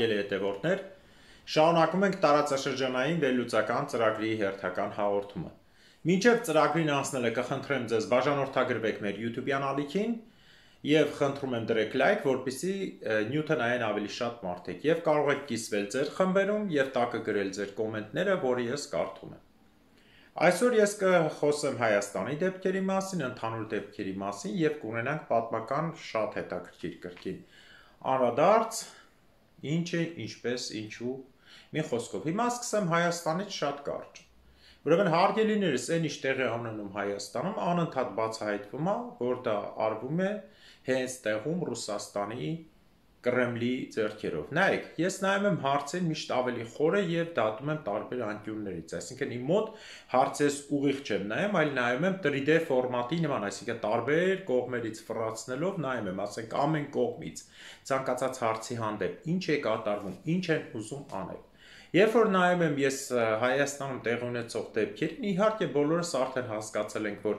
Հարգելի հետևորդներ, շարունակում ենք տարածաշրջանային վերլուծական ծրագրի հերթական հաղորդումը։ Մինչև ծրագրին անցնելը կխնդրեմ ձեզ բաժանորդագրվեք մեր YouTube-յան ալիքին եւ խնդրում եմ դրեք լայք, որպեսզի նյութը նայեն ավելի շատ մարդիկ եւ կարող եք կիսվել ձեր խմբերում եւ տակը գրել ձեր կոմենտները, որը ես կարդում եմ։ Այսօր ես կխոսեմ Հայաստանի դեպքերի մասին, ընդհանուր դեպքերի մասին եւ կունենանք պատմական շատ հետաքրքիր կրկին անդրադարձ, ինչ է, ինչպես, ինչու, մի խոսքով։ Հիմա սկսեմ Հայաստանից շատ կարճ։ Ուրեմն հարգելիներս, այն ինչ տեղի ունենում Հայաստանում, անընդհատ բացահայտվում է, որ դա արվում է հենց տեղում Ռուսաստանի Կրեմլի ձեռքերով։ Նայեք, ես նայում եմ հարցին միշտ ավելի խորը եւ դատում եմ տարբեր անկյուններից, այսինքն իմ մոտ հարցես ուղիղ չեմ նայում, այլ նայում եմ 3D ֆորմատի նման, այսինքն տարբեր կողմերից ֆռացնելով նայում եմ, ասենք ամեն կողմից ցանկացած հարցի հանդեպ ինչ է կատարվում, ինչ են ուզում անել։ Երբ որ նայում եմ ես Հայաստանում տեղի ունեցող դեպքերին, իհարկե բոլորս արդեն հասկացել ենք, որ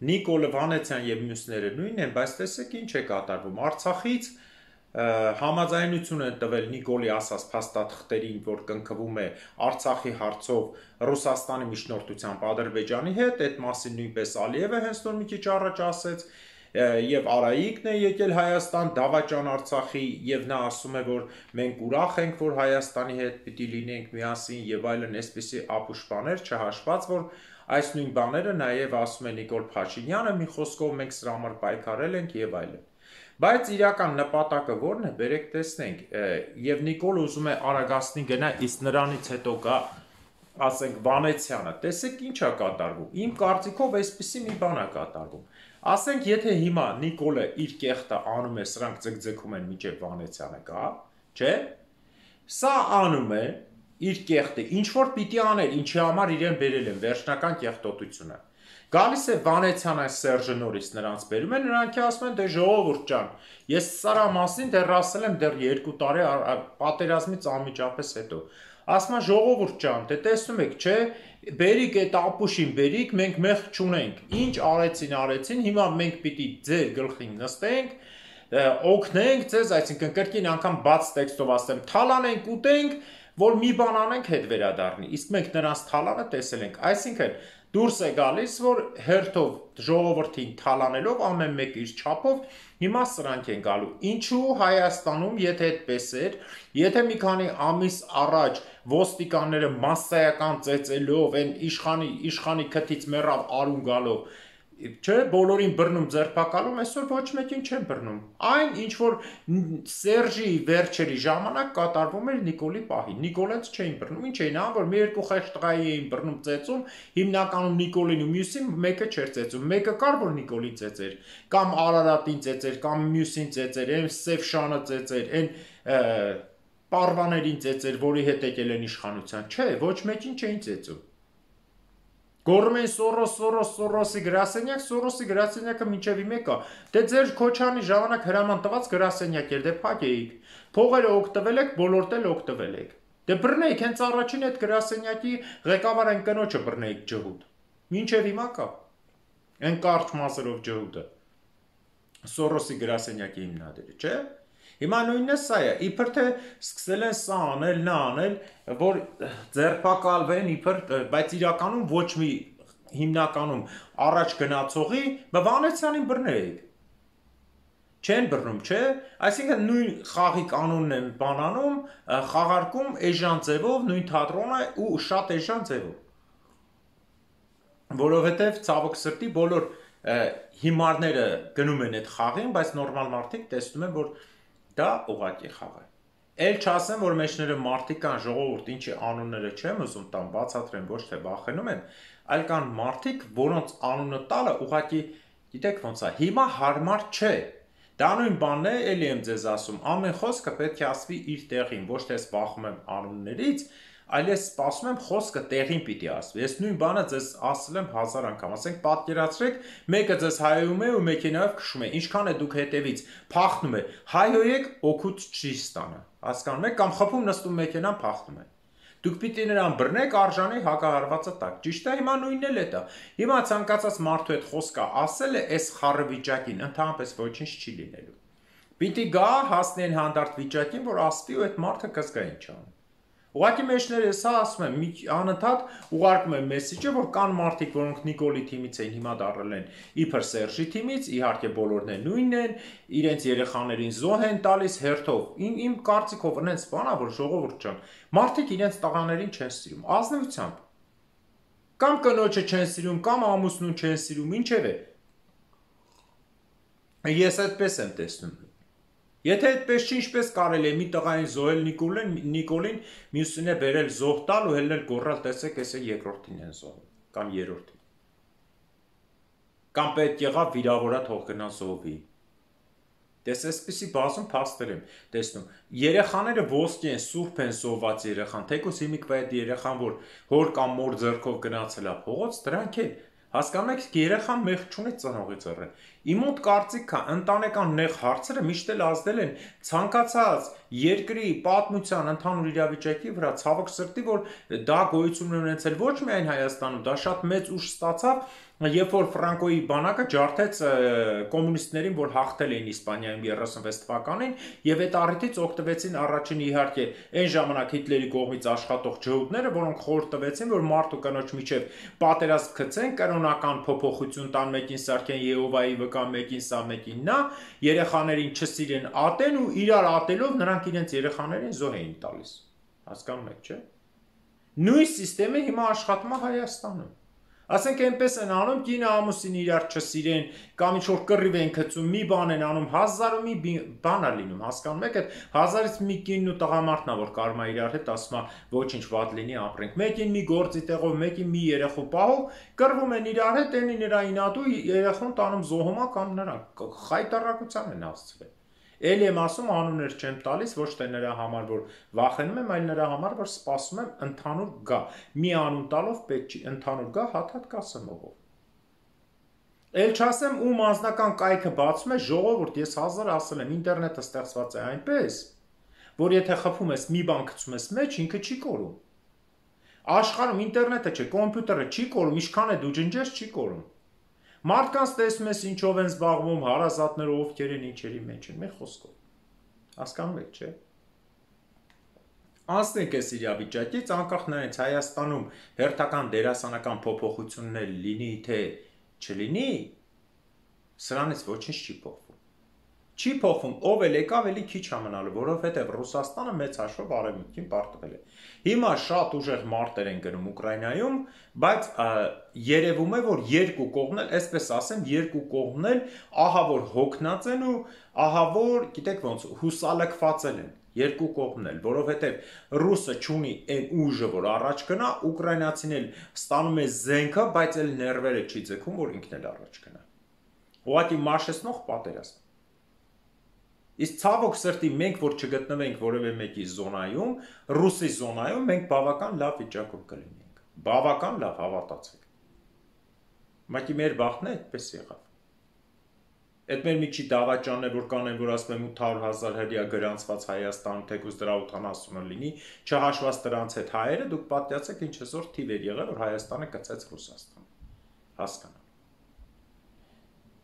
Նիկոլ Վանեցյան եւ մյուսները նույնն են, բայց տեսեք ինչ է կատարվում։ Արցախից համաձայնություն են տվել Նիկոլի ասած փաստաթղթերին, որ կնքվում է Արցախի հարցով Ռուսաստանի միջնորդությամբ Ադրբեջանի հետ, այդ մասին նույնպես Ալիևը հենց նոր մի քիչ առաջ ասեց, եւ Արայիկն է եկել Հայաստան դավաճան Արցախի եւ նա ասում է, որ մենք ուրախ ենք, որ Հայաստանի հետ պիտի լինենք միասին եւ այլն, այսպիսի ապուշ բաներ չհաշված, որ այս նույն բաները նաեւ ասում է Նիկոլ Փաշինյանը, մի խոսքով մենք սրա համար պայքարել ենք եւ այլն։ Բայց իրական նպատակը ո՞րն է, բերեք տեսնենք, եւ Նիկոլ ուզում է Արագասնի գնա, իսկ նրանից հետո կա, ասենք Վանեցյանը, տեսեք ինչ է կատարվում, իմ կարծիքով այսպիսի մի բան է կատարվում, ասենք եթե հիմա Նիկոլը իր կեղտը անում է, սրանք ձգձգում են մինչև Վանեցյանը կա, չէ, սա անում է իր կեղտը, ինչ որ պիտի աներ, ինչի համար իրեն բերել են վերջնական կեղտոտությունը, գալիս է Վանեցյանը Սերժը նորից նրանց բերում է, նրանք ասում են, դե ժողովուրդ ջան, ես սրա մասին դեռ ասել եմ դեռ 2 տարի պատերազմից անմիջապես հետո, ասում են ժողովուրդ ջան, դե տեսնում եք, չէ, բերիկ այդ ապուշին բերիկ, մենք մեղք չունենք, ինչ արեցին, հիմա մենք պիտի ձեր գլխին նստենք, օգնենք ձեզ, այսինքն կրկին անգամ բաց տեքստով ասեմ, թալանենք, ուտենք, որ մի բան անենք հետ վերադառնի, իսկ մենք նրանց թալանը տեսել ենք, այսինքն դուրս է գալիս, որ հերթով ժողովրդին թալանելով ամեն մեկ իր չափով, հիմա սրանք են գալու։ Ինչու Հայաստանում, եթե այդպես էր, եթե մի քանի ամիս առաջ ոստիկանները մասսայական ծեծելով, այն իշխանի քթից մեռավ արուն գալով, չէ, բոլորին բռնում ձերբակալում, այսօր ոչ մեկին չեն բռնում։ Այն ինչ որ Սերժի վերջերի ժամանակ կատարվում էր Նիկոլի պահին։ Նիկոլենց չէին բռնում, ինչ էին անում, որ մի երկու խեղճ տղայի էին բռնում ծեծում, հիմնականում Նիկոլին ու մյուսին մեկը չէր ծեծում։ Մեկը կար որ Նիկոլին ծեծեր, կամ Արարատին ծեծեր, կամ մյուսին ծեծեր, այն Սևշանը ծեծեր, այն Պարվաներին ծեծեր, որի հետ եկել են իշխանության։ Չէ, ոչ մեկին չէին ծեծում։ Գոռում են Սորոսի գրասենյակ, Սորոսի գրասենյակը մինչև իմեկա, դե ձեր Քոչանի ժամանակ հրաման տված գրասենյակ էր, դե փակեիք, փողերը օգտվել եք, բոլորդ էլ օգտվել եք, դե բռնեիք, հենց առաջին այդ գրասենյակի ղեկավար այն կնոջը բռնեիք ջհուդ, մինչև հիմա կա, այն կարճ մազերով ջհուդը, Սորոսի գրասենյակի հիմնադիրը, չէ, Հիմա նույնը սա է, իբր թե սկսել են սա անել, նա անել, որ ձերբակալվեն, բայց իրականում ոչ մի հիմնականում առաջ գնացողի Վանեցյանին բռնեիք։ Չեն բռնում, չէ, այսինքն նույն խաղի կանոնն են բանանում, խաղարկում էժան ձևով, նույն թատրոնը ու շատ էժան ձևով։ Որովհետև ցավոք սրտի բոլոր հիմարները գնում են այդ խաղին, բայց նորմալ մարդիկ տեսնում են, որ դա ուղղակի խաղ է։ Էլ չասեմ, որ մեջները մարդիկ կան, ժողովուրդ, ինչի անունները չեմ ուզում տամ, բացատրեմ, ոչ թե վախենում եմ, այլ կան մարդիկ, որոնց անունը տալը ուղղակի, գիտեք ոնց է, հիմա հարմար չէ։ Դա նույն բանն է, էլի եմ ձեզ ասում, ամեն խոսքը պետք է ասվի իր տեղին, ոչ թե սպասում եմ անուններից, այլ ես սպասում եմ խոսքը տեղին պիտի ասվի։ Ես նույն բանը ձեզ ասել եմ 1000 անգամ, ասենք պատկերացրեք, մեկը ձեզ հայոյում է ու մեքենայով քշում է, ինչքան է դուք հետևից փախնում է, հայոյեք օգուտ չի ստանա, հասկանում եք, կամ խփում նստում մեքենան փախնում է։ Դուք պիտի նրան բռնեք արժանի հակահարվածը տակ, ճիշտ է, հիմա նույնն էլ է դա։ Հիմա ցանկացած մարդու այդ խոսքը ասել է այս խառը վիճակին, ընդհանրապես ոչինչ չի լինելու։ Պիտի գա հասնեն հանդարտ վիճակին, որ ասվի ու այդ մարդը կզգա ինչ անում։ Ուղղակի մեջները սա ասում եմ, անընդհատ ուղարկում եմ մեսիջը, որ կան մարդիկ, որոնք Նիկոլի թիմից են, հիմա դառել են իբր Սերժի թիմից, իհարկե բոլորն են նույնն են, իրենց երեխաներին զոհ են տալիս հերթով։ Իմ կարծիքով այնց բան է, որ ժողովուրդ ջան, մարդիկ իրենց տղաներին չեն սիրում, ազնվությամբ։ Կամ կնոջը չեն սիրում, կամ ամուսնուն չեն սիրում, ինչև է։ Ես այդպես եմ տեսնում։ Եթե այդպես չի, ինչպես կարելի է մի տղային զոհել Նիկոլին, մյուսին է բերել զոհ տալ ու հելնել գոռալ, տեսեք, էս է երկրորդին են զոհել, կամ երրորդին։ Կամ պետք եղավ վիրավորա թող գնա զոհվի։ Դες այսպիսի բազում փաստեր եմ տեսնում։ Երեխաները ոսկի են, սուրբ են զոհված երեխան, թեկուզ հիմիկվա այդ երեխան, որ հոր կամ մոր ձեռքով գնացել է փողոց, դրանք էլ հասկանում եք, երեխան մեղ չունի ծնողի ձեռը։ Իմ մոտ կարծիք կա, ընտանեկան նեղ հարցերը միշտ էլ ազդել են ցանկացած երկրի պատմության ընդհանուր իրավիճակի վրա, ցավոք սրտի, որ դա գոյություն ունեցել ոչ միայն Հայաստանում, դա շատ մեծ ուժ ստացավ, երբ որ Ֆրանկոյի բանակը ջարդեց կոմունիստներին, որ հաղթել էին Իսպանիայում 36 թվականին, եւ այդ առիթից օգտվեցին առաջին իհարկե այն ժամանակ Հիտլերի կողմից աշխատող ջհուդները, որոնք խորհուրդ տվեցին, որ մարդ ու կնոջ միջև պատերազմ գցեն, կանոնական փոփոխություն տան, մեկին սարքեն Եհովայի վկա, մեկին սա, մեկին նա, երեխաներին չսիրեն, ատեն ու իրար ատելով նրանք իրենց երեխաներին զոհ էին տալիս։ Հասկանում եք, չէ՞։ Նույն համակարգը հիմա աշխատում է Հայաստանում։ Ասենք այնպես են անում, կինը ամուսին իրար չսիրեն, կամ ինչ-որ կռիվ են գցում, մի բան են անում, 1000 ու մի բան է լինում, հասկանում եք, այդ 1000-ից մի կինն ու տղամարդն է, որ կարում է իրար հետ, ասում է ոչինչ վատ լինի, ապրենք։ Մեկին մի գործի տեղով, մեկին մի երեխու պահով, կռվում են իրար հետ, այնի նրա ինատու երեխուն տանում զոհումա կամ նրան խայտարակության են հասցվել։ Էլի եմ ասում, անուններ չեմ տալիս, ոչ թե նրա համար, որ վախենում եմ, այլ նրա համար, որ սպասում եմ ընդհանուր գա։ Մի անուն տալով պետք չի, ընդհանուր գա, հատ-հատ կասեմողով։ Էլ չասեմ, ում անձնական կայքը բացում է, ժողովուրդ, ես 1000 ասել եմ, ինտերնետը ստեղծված է այնպես, որ եթե խփում ես մի բան գցում ես մեջ, ինքը չի կորում։ Աշխարհում ինտերնետը չէ, կոմպյուտերը չի կորում, ինչքան է դու ջնջես, չի կորում։ Մարդկանց տեսնում ես ինչով են զբաղվում, հարազատները ովքեր են, ինչերի մեջ են, մի խոսքով։ Հասկանում եք, չէ՞։ Անցնենք այս իրավիճակից, անկախ նրանից Հայաստանում հերթական դերասանական փոփոխություններ լինի, թե չլինի, սրանից ոչինչ չի փոխվում։ Չի փոխվում, ով էլ եկավ, էլի քիչ է մնալու, որովհետև Ռուսաստանը մեծ հաշվով արևմուտքին պարտվել է։ Հիմա շատ ուժեղ մարտեր են գնում Ուկրաինայում, բայց երևում է, որ երկու կողմն էլ, այսպես ասեմ, երկու կողմն էլ ահա որ հոգնած են ու ահա որ, գիտեք ոնց, հուսալքված են երկու կողմն էլ, որովհետև ռուսը չունի այն ուժը, որ առաջ գնա, ուկրաինացին էլ ստանում է զենքը, բայց էլ ներվերը չի ձգում, որ ինքն էլ առաջ գնա։ Ուղղակի մաշեցնող պատերազմ։ Իսկ ցավոք սրտի մենք, որ չգտնվենք որևէ մեկի զոնայում, ռուսի զոնայում, մենք բավական լավ վիճակում կլինենք։ Բավական լավ, հավատացեք։ Մակի մեր բախտն է այդպես եղավ։ Այդ մեր մի քիչ դավաճանն է, որ կանեն, որ ասում եմ 800,000 հրյա գրանցված Հայաստանում, թեկուզ դրա 80-ը լինի, չհաշված դրանց հետ հայերը, դուք պատկացեք ինչ այսօր թիվ էր եղել, որ Հայաստանը գծեց Ռուսաստան։ Հասկանալ։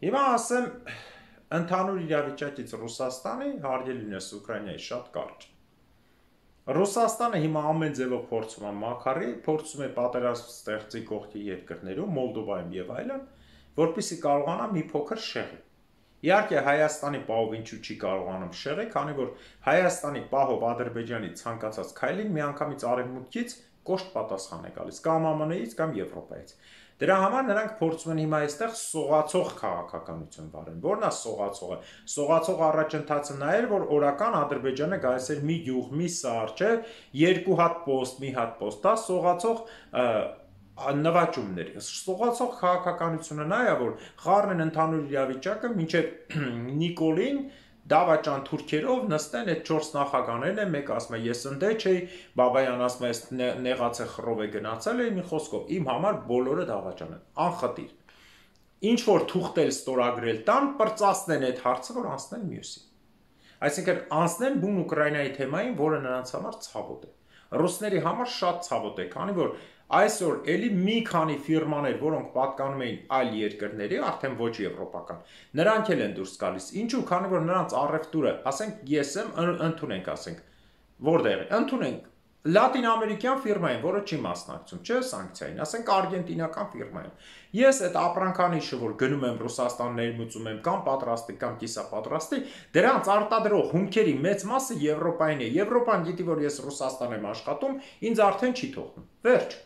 Հիմա ասեմ, Ընդհանուր իրավիճակից Ռուսաստանի հարգելինս Ուկրաինայի շատ կարճ։ Ռուսաստանը հիմա ամեն ձևով փորձում է մաքարի, փորձում է պատերազմ ստեղծի կողքի երկրներում, Մոլդովայում եւ այլն, որպեսզի կարողանա մի փոքր շեղի։ Իհարկե Հայաստանի պահով ինչու չի կարողանում շեղի, քանի որ Հայաստանի պահով Ադրբեջանի ցանկացած քայլին միանգամից արևմուտքից կոշտ պատասխան է գալիս, կամ ԱՄՆ-ից, կամ Եվրոպայից։ Դրա համար նրանք փորձում են հիմա այստեղ սողացող քաղաքականություն վարեն։ Որն է սողացողը։ Սողացող առաջընթացը նա էր, որ օրական Ադրբեջանը գալիս էր մի գյուղ, մի սար, չէ, երկու հատ պոստ, մի հատ պոստ, դա սողացող նվաճումներ։ Սողացող քաղաքականությունը նա է, որ խառն են ընդհանուր իրավիճակը, մինչև Նիկոլին դավաճան թուրքերով նստեն այդ 4 նախագաներն են, մեկը ասում է ես ընդե չէի, Բաբայան ասում է ես նեղացե խռով է գնացել էի, մի խոսքով իմ համար բոլորը դավաճան են, անխտիր։ Ինչ որ թուղթել ստորագրել տան, պրծացնեն այդ հարցը, որ անցնեն մյուսին։ Այսինքն անցնեն բուն Ուկրաինայի թեմային, որը նրանց համար ցավոտ է։ Ռուսների համար շատ ցավոտ է, քանի որ այսօր էլի մի քանի ֆիրմաներ, որոնք պատկանում էին այլ երկրների, արդեն ոչ եվրոպական, նրանք էլ են դուրս գալիս։ Ինչու՞, քանի որ նրանց առևտուրը, ասենք ես եմ, ընդունենք, ասենք, որտեղ է, ընդունենք լատինամերիկյան ֆիրմային, որը չի մասնակցում, չէ, սանկցիային, ասենք արգենտինական ֆիրմային։ Ես այդ ապրանքանիշը, որ գնում եմ Ռուսաստան ներմուծում եմ կամ պատրաստի կամ կիսապատրաստի, դրանց արտադրող հումքերի մեծ մասը Եվրոպային է։ Եվրոպան գիտի, որ ես Ռուսաստան եմ աշխատում, ինձ արդեն չի թողնում։ Վերջ։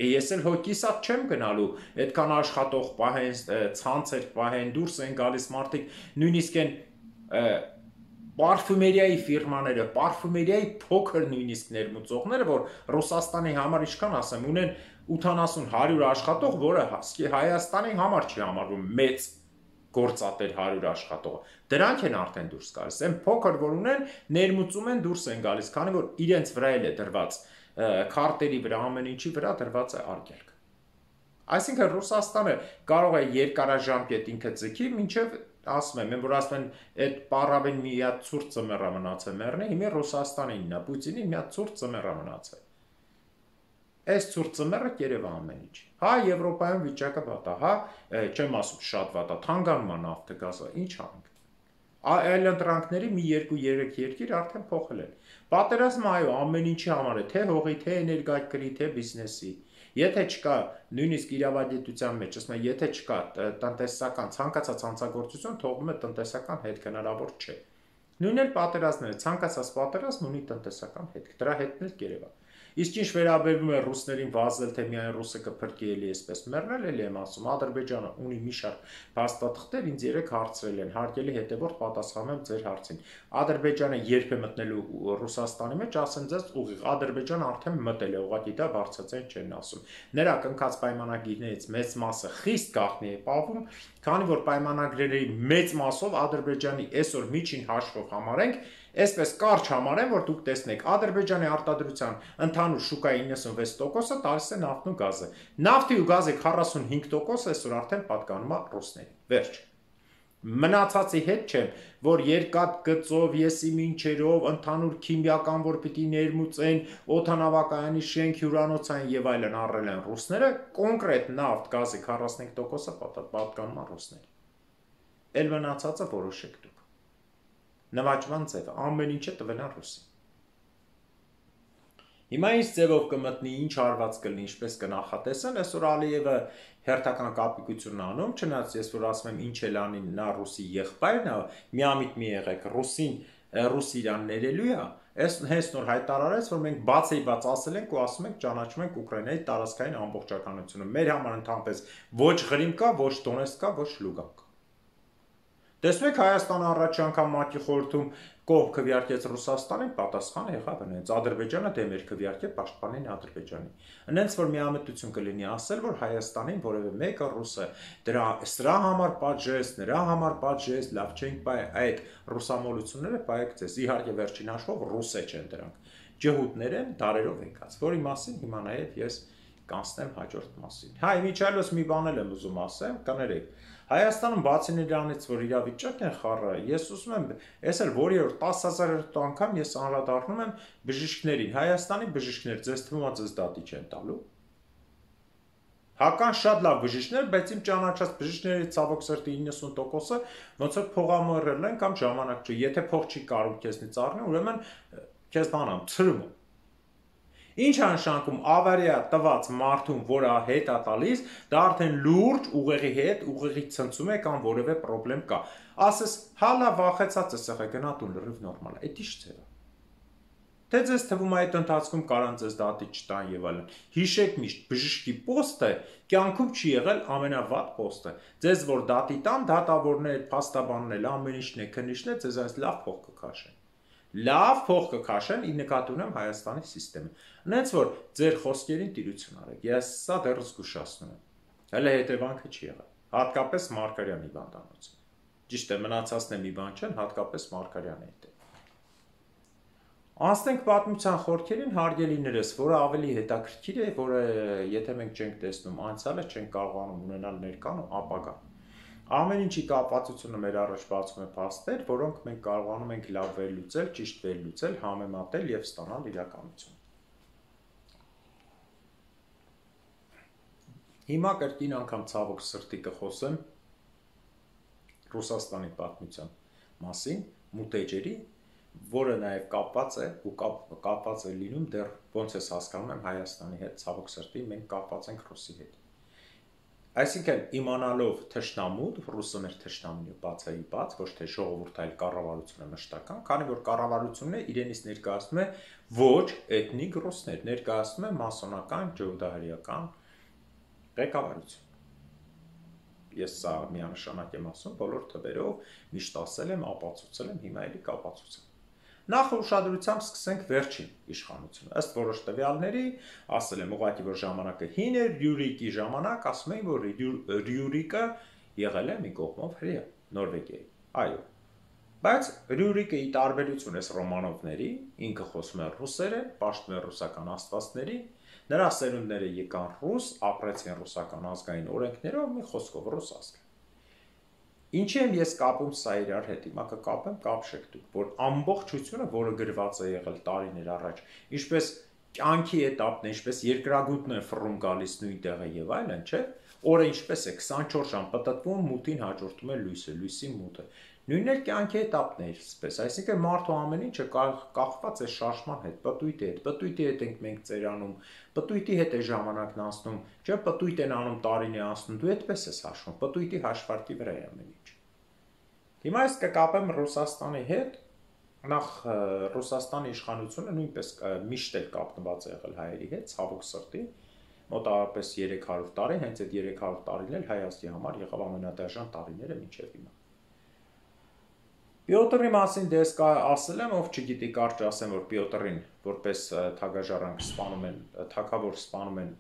Ես էլ հոգիսատ չեմ գնալու, այդքան աշխատող պահեն, ցանցեր պահեն, դուրս են գալիս մարդիկ, նույնիսկ են պարֆումերիայի ֆիրմաները, պարֆումերիայի փոքր նույնիսկ ներմուծողները, որ Ռուսաստանի համար ինչքան ասեմ, ունեն 80-100 աշխատող, որը Հայաստանի համար չի համարվում մեծ գործատեր 100 աշխատողը։ Դրանք են արդեն դուրս գալիս։ Այն փոքր, որ ունեն, ներմուծում են, դուրս են գալիս, քանի որ իրենց վրա էլ է դրված քարտերի վրա, ամեն ինչի վրա դրված է արգելք։ Այսինքն Ռուսաստանը կարող է երկարաժամկետ ինքը ձգի, մինչև ասում եմ, որ ասում են այդ պարավեն մի հատ ցուրտ ծմերա մնացել մեռնի, հիմա Ռուսաստանինն է, Պուտինի մի հատ ցուրտ ծմերա մնացել։ Այս ցուրտ ծմերը կերևա ամեն ինչ։ Հա Եվրոպայում վիճակը վատ է, հա, չեմ ասում շատ վատ է, թանկանում է նավթը, գազը, ինչ անենք։ Այլ ընտրանքների մի 2-3 երկիր արդեն փոխել են։ Պատերազմը այո, ամեն ինչի համար է, թե հողի, թե էներգակրի, թե բիզնեսի։ Եթե չկա նույնիսկ իրավագիտության մեջ, ասում եմ, եթե չկա տնտեսական ցանկացած հանցագործություն, թողնում է տնտեսական հետք, հնարավոր չէ։ Նույնն էլ պատերազմները, ցանկացած պատերազմ ունի տնտեսական հետք, դրա հետքն էլ կերևա։ Իսկ ինչ վերաբերվում է ռուսներին վազել, թե միայն ռուսը կփրկի էլի այսպես մեռնել, էլի եմ ասում, Ադրբեջանը ունի մի շարք փաստաթղթեր, ինձ 3 հարցրել են, հարկելի հետևորդ պատասխանում եմ ձեր հարցին։ Ադրբեջանը երբ է մտնելու Ռուսաստանի մեջ, ասեմ ձեզ ուղիղ, Ադրբեջանը արդեն մտել է, ուղղակի դա բարձրացեն չեն ասում։ Նրա կնքած պայմանագիրներից մեծ մասը խիստ գաղտնի է պահվում, քանի որ պայմանագրերի մեծ մասով Ադրբեջանի այսօր միջին հաշվով համարենք, այսպես կարճ համարեն, որ դուք տեսնեք, Ադրբեջանի արտադրության ընդհանուր շուկայի 96%-ը տալիս է նավթն ու գազը։ Նավթի ու գազի 45% այսօր արդեն պատկանում է ռուսներին։ Վերջ։ Մնացածի հետ չեմ, որ երկաթ գծով, եսի մինչերով, ընդհանուր քիմիական, որ պիտի ներմուծեն, օդանավակայանի շենք, հյուրանոցային եւ այլն առել են ռուսները, կոնկրետ նավթ, գազի 45%-ը պատկանում է ռուսներին։ Էլ մնացածը որոշեք դուք։ Նվաճման ձևը, ամեն ինչը տվել են ռուսին։ Հիմա ինչ ձևով կմտնի, ինչ հարված կլինի, ինչպես կնախատեսեն, այսօր Ալիևը հերթական կապիկություն անում, չնայած ես որ ասում եմ ինչ էլ անի նա ռուսի եղբայրն է, միամիտ մի եղեք, ռուս իրան ներելու է, հենց նոր հայտարարեց, որ մենք բացեիբաց ասել ենք ու ասում ենք ճանաչում ենք Ուկրաինայի տարածքային ամբողջականությունը։ Մեր համար ընդհանրապես ոչ Ղրիմ կա, ոչ Դոնեցկ կա, ոչ Լուգան կա։ Տեսնում եք Հայաստանը առաջի անգամ ՄԱԿ-ի խորհրդում կողմ քվեարկեց Ռուսաստանին, պատասխանը եղավ հենց Ադրբեջանը դեմ էր քվեարկել պաշտպանին Ադրբեջանի։ Հենց որ միամտություն կլինի ասել, որ Հայաստանին որևէ մեկը ռուսը սրա համար պատժես, նրա համար պատժես, լավ չենք բայ այդ ռուսամոլությունները բայեք ձեզ։ Իհարկե վերջին հաշվով ռուսե չեն դրանք։ Ջհուդներ են դարերով եկած, որի մասին հիմա նաև ես կանցնեմ հաջորդ մասին։ Հա, իմիջիայլոց մի բան եմ ուզում ասեմ, կներեք։ Հայաստանում բացի նրանից, որ իրավիճակն է խառը, ես ուզում եմ, ես էլ որի որ 10,000 անգամ ես անդրադառնում եմ բժիշկներին, Հայաստանի բժիշկներ, ձեզ թվում է ձեզ դատի չեն տալու։ Հական շատ լավ բժիշկներ, բայց իմ ճանաչած բժիշկների ցավոք սրտի 90%-ը ոնց որ փողամորել են կամ ժամանակ չի։ Եթե փող չի կարող քեզնից առնել, ուրեմն քեզ բանամ ծրում։ Ինչ է նշանակում ավարիա տված մարդուն, որը հետ է տալիս, դա արդեն լուրջ ուղեղի հետ, ուղեղի ցնցում է կամ որևէ խնդրեմ կա։ Ասես հալա վախեցած է եղել գնա տուն լրիվ նորմալ է։ Այդ ի՞նչ ձև է։ Թե ձեզ թվում է այդ ընթացքում կարան ձեզ դատի չտան եւ այլն։ Հիշեք միշտ, բժշկի պոստը կյանքում չի եղել ամենավատ պոստը։ Ձեզ որ դատի տան, դատավորներ, փաստաբաններ, ամեն ինչն է, քննիչն է, ձեզ այս լավ փող կքաշեն։ Լավ փող կքաշեն, ի նկատի ունեմ Հայաստանի համակարգը։ Նենց որ ձեր խոսքերին տիրություն արեք։ Ես սա դեռ զգուշացնում եմ։ Հələ հետևանքը չի եղել։ Հատկապես Մարգարյանի բանտանոցը։ Ճիշտ է, մնացածն մի բան չեն, հատկապես Մարգարյանի հետ։ Անցնենք պատմության խորքերին, հարգելիներս, որը ավելի հետաքրքիր է, որը եթե մենք չենք տեսնում անցյալը, չենք կարողանում ունենալ ներկան ու ապագան։ Ամեն ինչի կապվածությունը մեր առաջ բացում է փաստեր, որոնք մենք կարողանում ենք լավ վերլուծել, ճիշտ վերլուծել, համեմատել եւ ստանալ իրականություն։ Հիմա կրկին անգամ ցավոք սրտի կխոսեմ Ռուսաստանի պատմության մասին, մուտեջերի, որը նաև կապված է ու կապված է լինում դեռ ոնց ես հասկանում եմ Հայաստանի հետ, ցավոք սրտի մենք կապված ենք Ռուսի հետ։ Այսինքն իմանալով թշնամուտ, ռուսը մեր թշնամին է բացայի բաց, ոչ թե ժողովուրդ այլ կառավարությունը մշտական, քանի որ կառավարությունն է իրենից ներկայացնում է ոչ էթնիկ ռուսներ, ներկայացնում է մասոնական, ջոդահարիական ղեկավարություն։ Ես սա միանշանակ եմ ասում, բոլոր թվերով միշտ ասել եմ, ապացուցել եմ, հիմա էլի կապացուցեմ։ Նախ ուշադրությամբ սկսենք վերջին իշխանությունը։ Ըստ որոշ տվյալների, ասել եմ ուղղակի որ ժամանակը հին էր, Ռյուրիկի ժամանակ, ասում էին, որ Ռյուրիկը եղել է մի կողմով հրեա, Նորվեգիայի։ Այո։ Բայց Ռյուրիկը ի տարբերություն էս Ռոմանովների, ինքը խոսում է ռուսերեն, պաշտում է ռուսական աստվածների, նրա սերունդները եկան ռուս, ապրեցին ռուսական ազգային օրենքներով, մի խոսքով ռուս ազգ։ Ինչի եմ ես կապում սա իրար հետ, հիմա կկապեմ, կապշեք դուք, որ ամբողջությունը, որը գրված է եղել տարիներ առաջ, ինչպես կյանքի էտապն է, ինչպես երկրագուտն է ֆռում գալիս նույն տեղը եւ այլն, չէ՞։ Օրը ինչպես է 24 ժամ պտտվում, մութին հաջորդում է լույսը, լույսի մութը։ Նույնն էլ կյանքի էտապն է այսպես, այսինքն մարդու ամեն ինչը կախված է շարժման հետ, պտույտի հետ ենք մենք ծերանում, պտույտի հետ է ժամանակն անցնում, չէ՞, պտույտ են անում տարին է անցնում, դու այդպես ես հաշվում, պտույտի հաշվարկի վրա է ամեն ինչ։ Հիմա ես կկապեմ Ռուսաստանի հետ, նախ Ռուսաստանի իշխանությունը նույնպես միշտ էլ կապնված է եղել հայերի հետ, ցավոք սրտի, մոտավորապես 300 տարի, հենց այդ 300 տարին էլ Հայաստանի համար եղավ ամենադաժան տարիները մինչև հիմա։ Պյոտրի մասին դες ասել եմ, ով չգիտի կարճ ասեմ, որ Պյոտրին որպես թագաժառանգ սպանում են, թագավոր սպանում են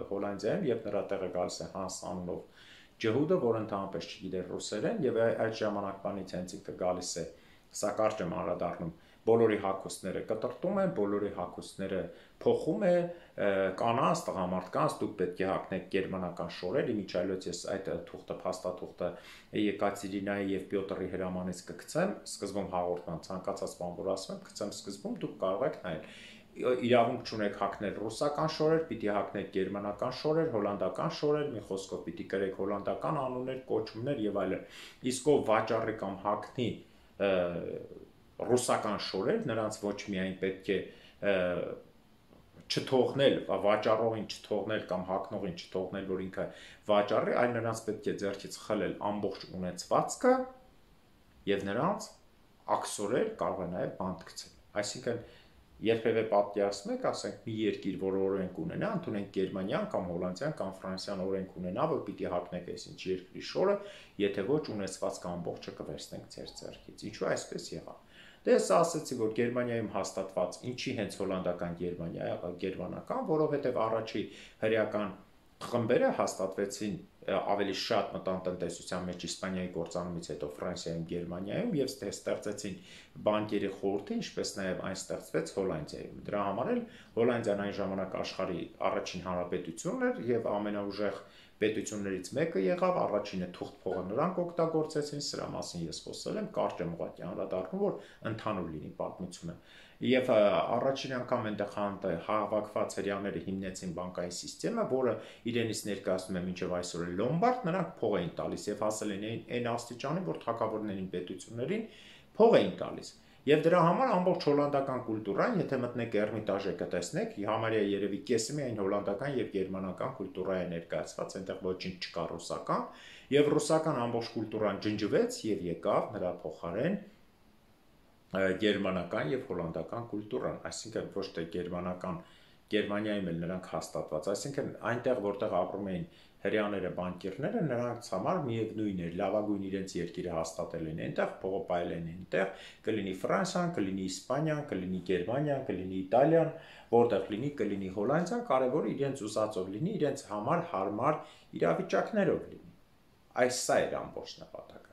Հոլանդիայում եւ նրա տեղը գալիս է Հանս անունով ջհուդը, որը ընդհանրապես չգիտեր ռուսերեն եւ այդ ժամանակվանից հենց ինքը գալիս է, սա կարճ եմ անդրադառնում, բոլորի հագուստները կտրտում են, բոլորի հագուստները փոխում է, կանանց, տղամարդկանց, դուք պետք է հագնեք գերմանական շորեր, իմիջայլոց ես այդ թուղթը, փաստաթուղթը Եկատերինայի եւ Պյոտրի հրամանից կգցեմ, սկզբում հաղորդման ցանկացած բան որ ասում եմ, գցեմ սկզբում, դուք կարող եք նայել։ Իրավունք չունեք հագնել ռուսական շորեր, պիտի հագնեք գերմանական շորեր, հոլանդական շորեր, մի խոսքով պիտի կրեք հոլանդական անուններ, կոչումներ եւ այլն։ Իսկ ով վաճառի կամ հագնի ռուսական շորեր, նրանց ոչ միայն պետք է չթողնել, վաճառողին չթողնել կամ հագնողին չթողնել, որ ինքը վաճառի, այլ նրանց պետք է ձեռքից խլել ամբողջ ունեցվածքը եւ նրանց աքսորել կարող է նաեւ բանտ գցել։ Այսինքն երբևէ պատկերացնում եք, ասենք մի երկիր, որ օրենք ունենա, ընդունենք Գերմանիան կամ Հոլանդիան կամ Ֆրանսիան օրենք ունենա, որ պիտի հագնեք այսինչ երկրի շորը, եթե ոչ ունեցվածքը ամբողջը կվերցնենք ձեր ձեռքից։ Ինչու այսպես եղավ։ Դե ես ասացի, որ Գերմանիայում հաստատված, ինչի հենց հոլանդական Գերմանիա, գերմանական, որովհետև առաջի հրեական խմբերը հաստատվեցին ավելի շատ մտան տնտեսության մեջ Իսպանիայի կործանումից հետո Ֆրանսիայում, Գերմանիայում եւ ստեղծեցին բանկերի խորհուրդը, ինչպես նաեւ այն ստեղծվեց Հոլանդիայում։ Դրա համար էլ Հոլանդիան այն ժամանակ աշխարհի առաջին հանրապետությունն էր եւ ամենաուժեղ պետություններից մեկը եղավ, առաջինը թուղթ փողը նրանք օգտագործեցին, սրա մասին ես խոսել եմ, կարճ եմ ուղղակի անդրադառնում, որ ընդհանուր լինի պատմությունը։ Եվ առաջին անգամ այնտեղ հավաքված հрьяաները հիմնեցին բանկային համակարգը, որը իրենից ներկայացնում է մինչև այսօր լոմբարդ, նրանք փող էին տալիս եւ հասել են այն աստիճանի, որ թագավորներին, պետություններին փող էին տալիս։ Եվ դրա համար ամբողջ հոլանդական կուլտուրան, եթե մտնեք Էրմիտաժը կտեսնեք, համարյա երևի կեսը միայն հոլանդական եւ գերմանական կուլտուրա է ներկայացված, այնտեղ ոչինչ չկա ռուսական, եւ ռուսական ամբողջ կուլտուրան ջնջվեց եւ եկավ նրա փոխարեն գերմանական եւ հոլանդական կուլտուրան, այսինքն ոչ թե գերմանական, Գերմանիայում էլ նրանք հաստատված, այսինքն այնտեղ որտեղ ապրում էին հрьяաները, բանկիրները, նրանց համար միևնույն էր, լավագույն իրենց երկիրը հաստատել են այնտեղ, փողը պայել են այնտեղ, կլինի Ֆրանսիան, կլինի Իսպանիան, կլինի Գերմանիան, կլինի Իտալիան, որտեղ լինի, կլինի Հոլանդիան, կարևորը իրենց ուզածով լինի, իրենց համար հարմար իրավիճակներով լինի։ Այս սա էր ամբողջ նպատակը։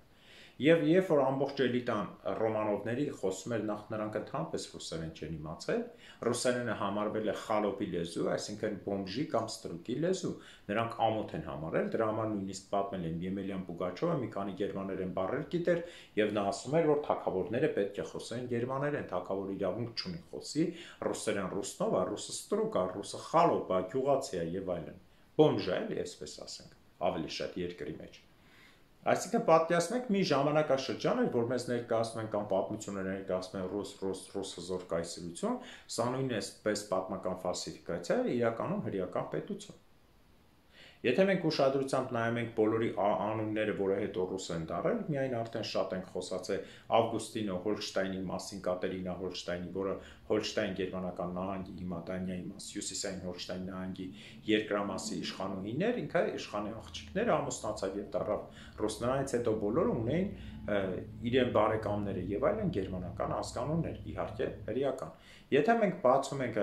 Եվ երբ որ ամբողջ էլիտան Ռոմանովների խոսում էր, նախ նրանք ընդհանրապես ռուսերեն չեն իմացել, ռուսերենը համարվել է խալոպի լեզու, այսինքն բոմժի կամ ստրուկի լեզու, նրանք ամոթ են համարել, դրա համար նույնիսկ պատմել են Եմելյան Պուգաչովը մի քանի գերմաներեն բառեր գիտեր, եւ նա ասում էր, որ թագավորները պետք է խոսեն գերմաներեն, թագավորը իրավունք չունի խոսի ռուսերեն ռուսնով, ռուսը ստրուկ է, ռուսը խալոպ է, գյուղացի է եւ այլն։ Բոմժ է, այսպես ասենք, ավելի շատ երկրի մեջ։ Այսինքն պատկերացնենք մի ժամանակաշրջան էր, որ մեզ ներկայացնում են կամ պատմությունը ներկայացնում են ռուս հզոր կայսրություն, սա նույնն է պես պատմական ֆալսիֆիկացիա է, իրականում հրեական պետություն։ Եթե մենք ուշադրությամբ նայում ենք բոլորի անունները, որը հետո ռուս են դառել, միայն արդեն շատ ենք խոսացել Ավգուստինո Հոլշտայնի մասին, Կատերինա Հոլշտայնի, որը Հոլշտայն գերմանական նահանգի, հիմա Դանիայի մաս, Հյուսիսային Հոլշտայն նահանգի երկրամասի իշխանուհին էր, ինքը իշխանի աղջիկներ ամուսնացավ եւ դառավ ռուս, նրանից հետո բոլորը ունեին իրեն բարեկամները եւ այլն գերմանական ազգանուններ, իհարկե հրեական։ Եթե մենք բացում ենք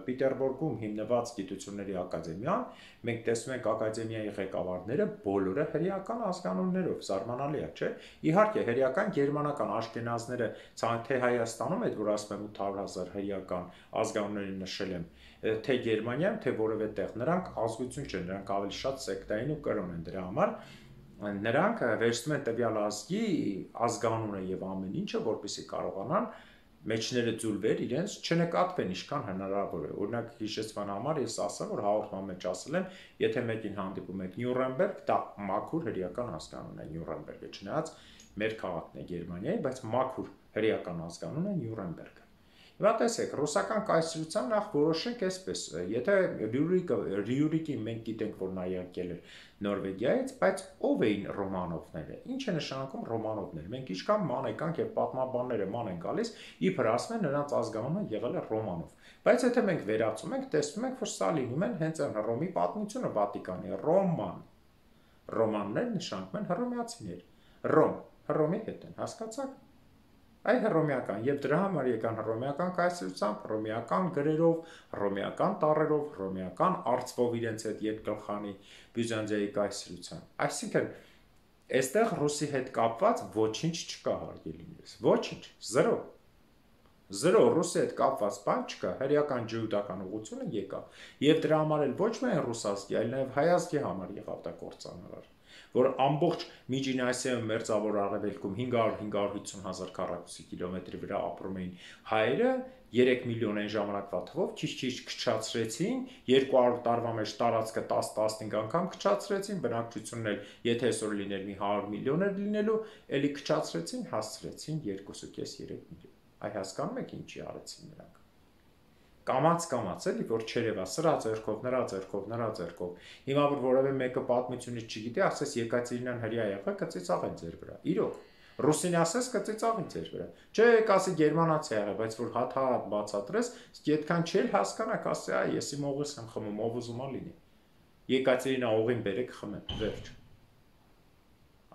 Պիտերբուրգում հիմնված գիտությունների ակադեմիան, մենք տեսնում ենք ակադեմիայի ղեկավարները բոլորը հրեական ազգանուններով, զարմանալի է, չէ՞։ Իհարկե հրեական գերմանական աշկենազները, թե Հայաստանում այդ որ ասում եմ 800,000 հրեական ազգանունների նշել եմ, թե Գերմանիայում, թե որևէ տեղ, նրանք ազգություն չեն, նրանք ավելի շատ սեկտային ու կրոն են, դրա համար նրանք վերցնում են տվյալ ազգի ազգանունը եւ ամեն ինչը, որպեսզի կարողանան մեջները ձուլվեր իրենց չնկատվեն ինչքան հնարավոր է։ Օրինակ հիշեցման համար ես ասեմ, որ հաղորդման մեջ ասել եմ, եթե մեկին հանդիպում եք Նյուրնբերգ, դա մաքուր հրեական ազգանուն է Նյուրնբերգը, չնայած մեր քաղաքն է Գերմանիայի, բայց մաքուր հրեական ազգանուն է Նյուրնբերգը։ Հիմա տեսեք, ռուսական կայսրության նախ որոշենք այսպես, եթե Ռյուրիկի մենք գիտենք, որ նա եկել էր Նորվեգիայից, բայց ով էին Ռոմանովները, ինչ է նշանակում Ռոմանովներ, մենք ինչքան ման եկանք եւ պատմաբանները ման են գալիս, իբր ասում են նրանց ազգանունը եղել է Ռոմանով, բայց եթե մենք վերացում ենք, տեսնում ենք, որ սա լինում են հենց այն Հռոմի պատմությունը Վատիկանի, Ռոմաններ նշանակում են հռոմեացիներ, Հռոմի հետ են, հասկացաք։ Այ հռոմեական եւ դրա համար եկան հռոմեական կայսրությամբ, հռոմեական գրերով, հռոմեական տառերով, հռոմեական արծվով իրենց հետ երկգլխանի Բյուզանդիայի կայսրության։ Այսինքն այստեղ ռուսի հետ կապված ոչինչ չկա հարգելիներս, ոչինչ, զրո ռուսի հետ կապված բան չկա, հրեական ջհուդական ուղղությունը եկավ եւ դրա համար էլ ոչ միայն ռուս ազգի, այլ նաեւ հայ ազգի համար եղավ դա կործանարար, որ ամբողջ Միջին Ասիայում մերձավոր Արևելքում 500-550,000 քառակուսի կիլոմետրի վրա ապրում էին հայերը, 3 միլիոն այն ժամանակվա թվով քիչ-քիչ քչացրեցին, 200 տարվա մեջ տարածքը 10-15 անգամ քչացրեցին, բնակչությունն էլ եթե այսօր լիներ մի 100 միլիոն էր լինելու, ելի քչացրեցին, հասցրեցին 2.5-3 միլիոն։ Այ հասկանում եք ինչի արեցին նրանք։ Կամաց էլի, որ չերևա, սրա ձեռքով։ Հիմա որ որևէ մեկը պատմությունից չգիտի, ասես Եկատերինան հրեա եղա, կծիծաղեն ձեր վրա։ Իրոք, ռուսին ասես կծիծաղեն ձեր վրա։ Չէ, կասի գերմանացի եղա, բայց որ հատ բացատրես, այդքան չել հասկանաք, ասի, այ ես իմ օղիս եմ խմում, ով ուզում է լինի։ Եկատերինա օղին բերեք խմեմ, վերջ։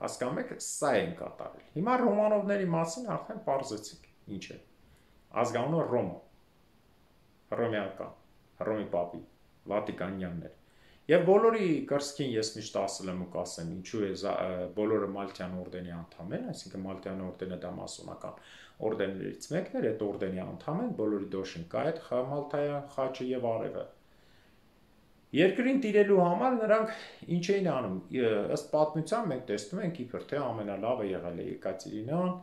Հասկանում եք, սա են կատարել։ Հիմա Ռոմանովների մասին արդեն պարզեցինք, ինչ է։ Ազգանունը Ռոմա։ Հռոմեական, Հռոմի պապի, Վատիկանյաններ։ Եվ բոլորի կրսկին ես միշտ ասել եմ ու կասեմ, ինչու է բոլորը Մալթյան օրդենի անդամ են, այսինքն Մալթյան օրդենը դա մասոնական օրդեններից մեկն էր, այդ օրդենի անդամ են, բոլորի դոշինկա այդ Մալթայան խաչը եւ արևը։ Երկրին տիրելու համար նրանք ինչ էին անում, ըստ պատմության մենք տեսնում ենք իբր թե ամենալավը եղել է Եկատերինան,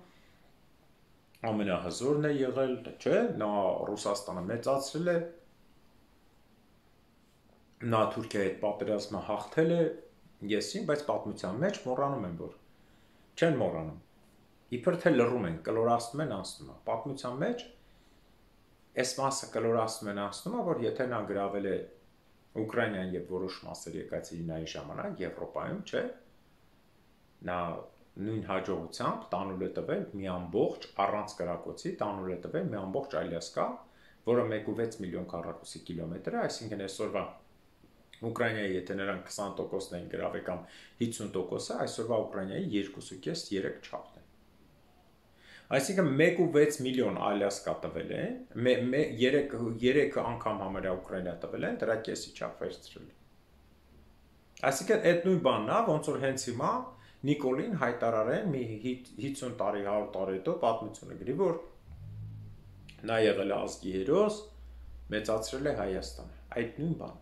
ամենահզորն է եղել, չէ, նա Ռուսաստանը մեծացրել է, նա Թուրքիայի հետ պատերազմը հաղթել է, եսին, բայց պատմության մեջ մոռանում են, որ չեն մոռանում, իբր թե լռում են, կլորացնում են անցնում, պատմության մեջ այս մասը կլորացնում են անցնում, որ եթե նա գրավել է Ուկրաինան եւ որոշ մասեր Եկատերինայի ժամանակ Եվրոպայում, չէ, նա նույն հաջողությամբ տանուլ է տվել մի ամբողջ առանց կրակոցի, տանուլ է տվել մի ամբողջ Ալյասկա, որը 1.6 միլիոն քառակուսի կիլոմետր է, այսինքն այսօրվա Ուկրաինայի եթե նրանք 20%-ն են գրավել կամ 50%-ը, այսօրվա Ուկրաինայի 2.5-3 չափն է։ Այսինքն 1.6 միլիոն Ալյասկա տվել են, 3 անգամ համարյա Ուկրաինա տվել են, դրա կեսի չափ վերցրել։ Այսինքն այդ նույն բանն է, ոնց որ հենց հիմա Նիկոլին հայտարարեն մի 50 տարի, 100 տարի հետո պատմությունը գրի, որ նա եղել է ազգի հերոս, մեծացրել է Հայաստանը։ Այդ նույն բանը։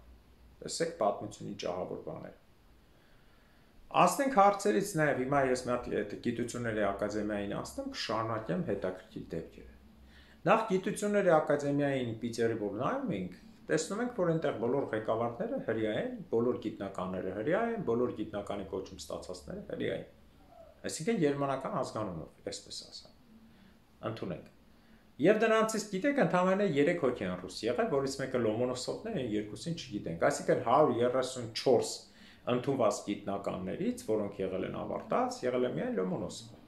Տեսեք պատմությունի ճահավոր բաներ։ Ասենք հարցերից նաև հիմա ես մի հատ գիտությունների ակադեմիային ասեմ, կշարունակեմ հետաքրքիր դեպքերը։ Նախ գիտությունների ակադեմիային Պիտերի որ նայում ենք, տեսնում ենք, որ այնտեղ բոլոր ղեկավարները հրյա են, բոլոր գիտնականները հրյա են, բոլոր գիտնականի կոչում ստացածները հրյա են։ Այսինքն գերմանական ազգանունով, այսպես ասեմ։ Ընդունենք։ Եվ դրանցից գիտեք, ընդհանրապես 3 հոգի են ռուս եղել, որից մեկը Լոմոնոսովն է, երկուսին չգիտենք։ Այսինքն 134 ընդունված գիտնականներից, որոնք եղել են ավարտած, եղել է միայն Լոմոնոսովը։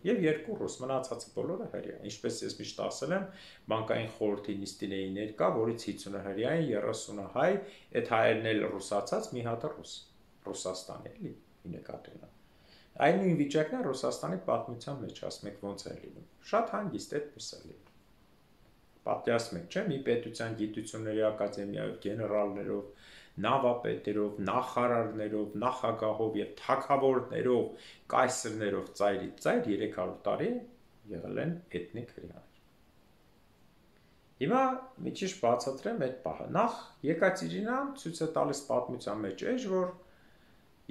Եվ 2 ռուս, մնացածը բոլորը հրյա։ Ինչպես ես միշտ ասել եմ, բանկային խորհրդի նիստին էի ներկա, որից 50-ը հրյա են, 30-ը հայ, այդ հայերն էլ ռուսացած, մի հատը ռուս, Ռուսաստանի էլի, ի նկատի ունեմ։ Այն նույն վիճակն է Ռուսաստանի պատմության մեջ, ասում եք ոնց է լինում։ Շատ հանգիստ այդպես է լինում։ Պատկերացնում եք, չէ՞, մի պետության գիտությունների ակադեմիայով, գեներալներով, նավապետերով, նախարարներով, նախագահով եւ թագավորներով, կայսրներով ծայրից ծայր 300 տարի եղել են էթնիկ հրեաներ։ Հիմա մի քիչ բացատրեմ այդ պահը։ Նախ Եկատերինան ցույց է տալիս պատմության մեջ էջ, որ